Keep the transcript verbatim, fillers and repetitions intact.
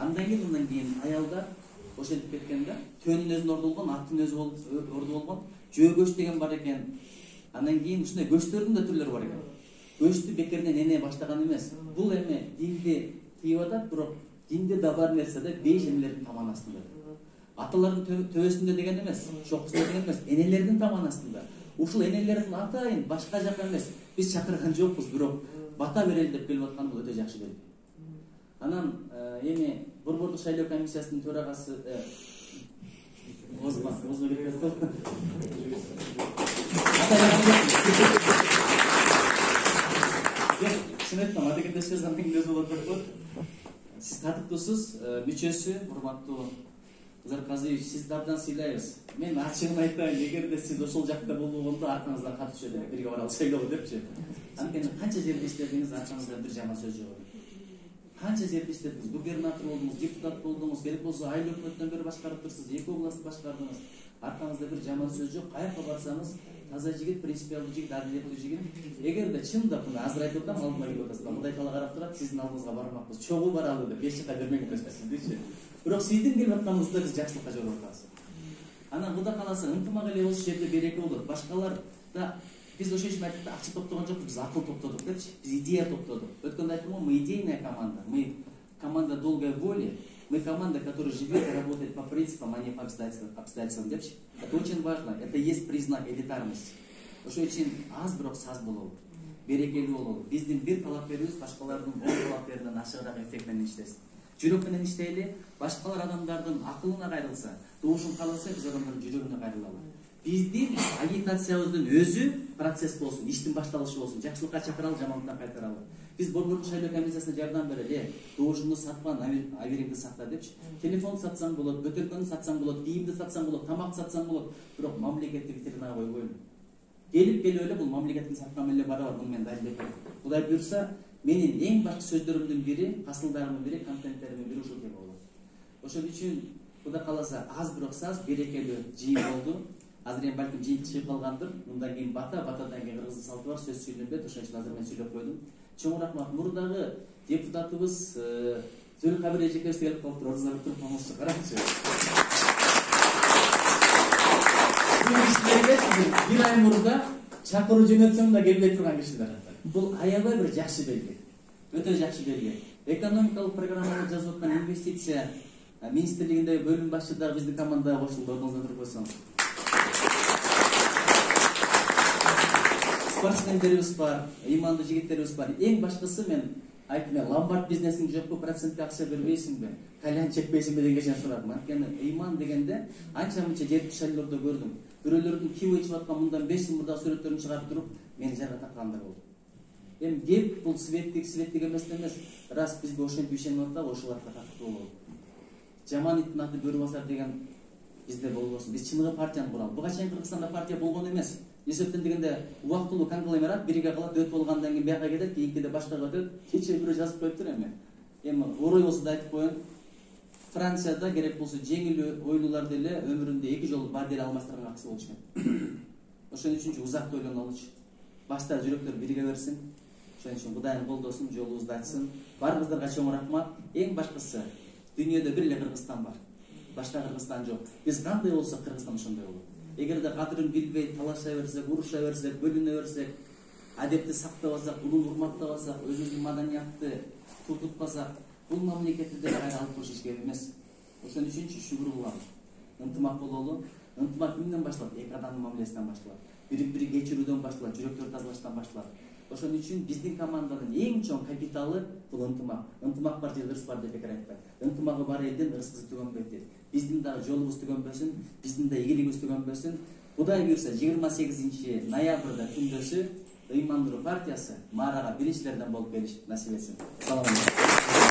Андан кийин андан кийин аялдар ошентип кеткен да. Төнүн өзүн орду болгон, аттын өзү орду болгон. Жөө көч деген бар экен. Андан кийин ушундай көчтөрдүн да түрлөрү бар экен. Көчтү бекерден эне баштаган эмес. Бул эме динди тийип атат, бирок динде да бар нерсе да беш эмелердин таман астында. Аталардын төбөсүндө деген эмес, чокусунда деген эмес, энелердин таман астында. Ушул энелердин атайын башка жака эмес. Биз чакырган жокпуз, бирок бата берели деп келип аткан бул өтө жакшы белги. Анан эми Борбордук шайлоо комиссиясынын төрагасы Озман, Озман кетти. Шынайыктан адегендешпес аңгемелер болот деп. Сиз татыктуусуз, мүчөсү, урматтуу Кызыр Казиевич, сизди абдан сыйлайбыз. Мен ачыгын айтайын, эгерде сиз ошол жакта болбогондо аркаңыздан кат түшөт эле, бирге баралы шайлоого депчи. Анткени канча жерде иштедиңиз, аркаңызда бир жаман сөз жок. Канча жерде иштедиңиз, губернатор болдуңуз, депутат болдуңуз, керек болсо айыл өкмөттөн бери башкарып турсуз, эки област башкардыңыз. Аркаңызда бир жаман сөз жок. Каяка барсаңыз, таза жигит, принципиалдуу жигит, адилеттүү жигит. Эгерде чындап мына азыр айтып атам, алдыма келип атасыздар. Мындай тала карап турат, сиздин алдыңызга бармакпыз. Чогуу баралы деп беш жылга бермеңиз сиздичи. Бирок сиздин келип атканыңызда биз жакшылыкка жоруп атабыз. Анан Кудай кааласа ынтымак эле болсо жерде береке болот. Башкалар да биз ошол үчүн айттык, акча топтогон жокпуз, биз акыл топтодук депчи. Биз идея топтодук. Өткөндө айттым го, мы идейная команда, мы команда долгой воли, мы команда, которая живет и работает по принципам, а не по обстоятельствам депчи. Это очень важно, это есть признак элитарности. Ошол үчүн аз бирок саз бололу, берекелүү бололу. Биздин бир талапкерибиз башкалардын он талапкеринен ашыгыраак эффект менен иштесин. Жүрөк менен иштейли, башкалар адамдардын акылына кайрылса, добушун кааласа, биз адамдардын жүрөгүнө кайрылалы. Биздин агитациябыздын өзү процесс болсун, иштин башталышы болсун, жакшылыкка чакыралы, жамандыктан кайтаралы. Биз Борбордук шайлоо комиссиясына жардам берели, добушунду сатпа, абериңди сакта депчи. Телефон сатсаң болот, бөтөлкөнү сатсаң болот, кийимди сатсаң болот, тамак сатсаң болот, бирок мамлекетти витринага койбойлу. Келип келип эле бул мамлекеттин саткан эле бара бар, муну мен далилдеп берем. Кудай буйрса, менин эң башкы сөздөрүмдүн бири, касылдарымдын бири, контенттеримдин бири ушул тема болот. Ошол үчүн Кудай кааласа аз бирок саз берекелүү жыйын болду. Азыр эми балким жыйын чыгып калгандыр. Мындан кийин бата, батадан кийин кыргыздын салты бар, сөз сүйлөнбөйт. Ошон үчүн азыр мен сүйлөп койдум. Чоң рахмат. Мурдагы депутатыбыз Зөлкабир Эжекебиз келип калыптыр. Ордуна туруп комузчу караңызчы. Бир ай мурда чакыруу жөнөтсөң да келбей турган кишилер. Бул аябай бир жакшы белги. Өтө жакшы белги. Экономикалык программаны жазып аткан инвестиция министрлигиндеги бөлүм башчы дагы биздин командага кошулду. Ордуңузда туруп койсоңуз. Спортсмендерибиз бар, ыймандуу жигиттерибиз бар. Эң башкысы мен айттым, ломбард бизнесиң жокпу, процентке акча бербейсиңби, кальян чекпейсиңби дегенче сурадым. Анткени ыйман дегенде анча-мынча жердик шайлоодо көрдүм. Бирөөлөрдүн кийип ичип аткан мындан беш жыл мурдагы сүрөттөрүн чыгарып туруп, мени жарга таккандар болду. Эми кеп бул светтик, светтик эмес эмес. Раз бизге ошентип ишенип атабы, ошоларга тактуу болобу. Жаман иттин аты бөрү басар деген бизде болбосун. Биз чыныгы партияны куралы. Буга чейин Кыргызстанда партия болгон эмес. Эсептен дегенде убактылуу конгломерат бирге калат, өтүп болгондон кийин бияка кетет, кийинкиде башкага өтөт. Кече бирөө жазып коюптур эми. Эми орой болсо да айтып коеюн. Францияда керек болсо жеңил ойлууларды эле өмүрүндө эки жолу бар деле алмаштырган акысы болчу экен. Ошон үчүн узак ойлонолучу. Башта жүрөктөр бирге берсин. Ошон үчүн Кудайым колдосун, жолубузду ачсын. Барыңыздарга чоң рахмат. Эң башкысы дүйнөдө бир эле Кыргызстан бар. Башка Кыргызстан жок. Биз кандай болсок Кыргызстан ошондой болот. Эгерде кадырын билбей, талаша берсек, уруша берсек, бөлүнө берсек, адепти сактабасак, улуу урматтабасак, өзүбүздүн маданиятты тутупкасак, бул мамлекетти деле кайра алып туруш ишке эмес. Ошон үчүн шүгүр кылалы. Ынтымак бололу. Ынтымак кимден башталат? Эки адамдын мамилесинен башталат. Бири-бири кечирүүдөн башталат, жүрөктөрдү тазалаштан башталат. Ошон үчүн биздин команданын эң чоң капиталы бул ынтымак. Ынтымак бар жерде ырыс бар деп бекер айтпайт. Ынтымагы бар элдин ырыскысы түгөнбөйт дейт. Биздин дагы жолубуз түгөнбөсүн, биздин да ийгилигибиз түгөнбөсүн. Кудай буйрса жыйырма сегизинчи ноябрда күндөшү ыймандуу партиясы Марага биринчилерден болуп келиш насип этсин. Салам алейкум.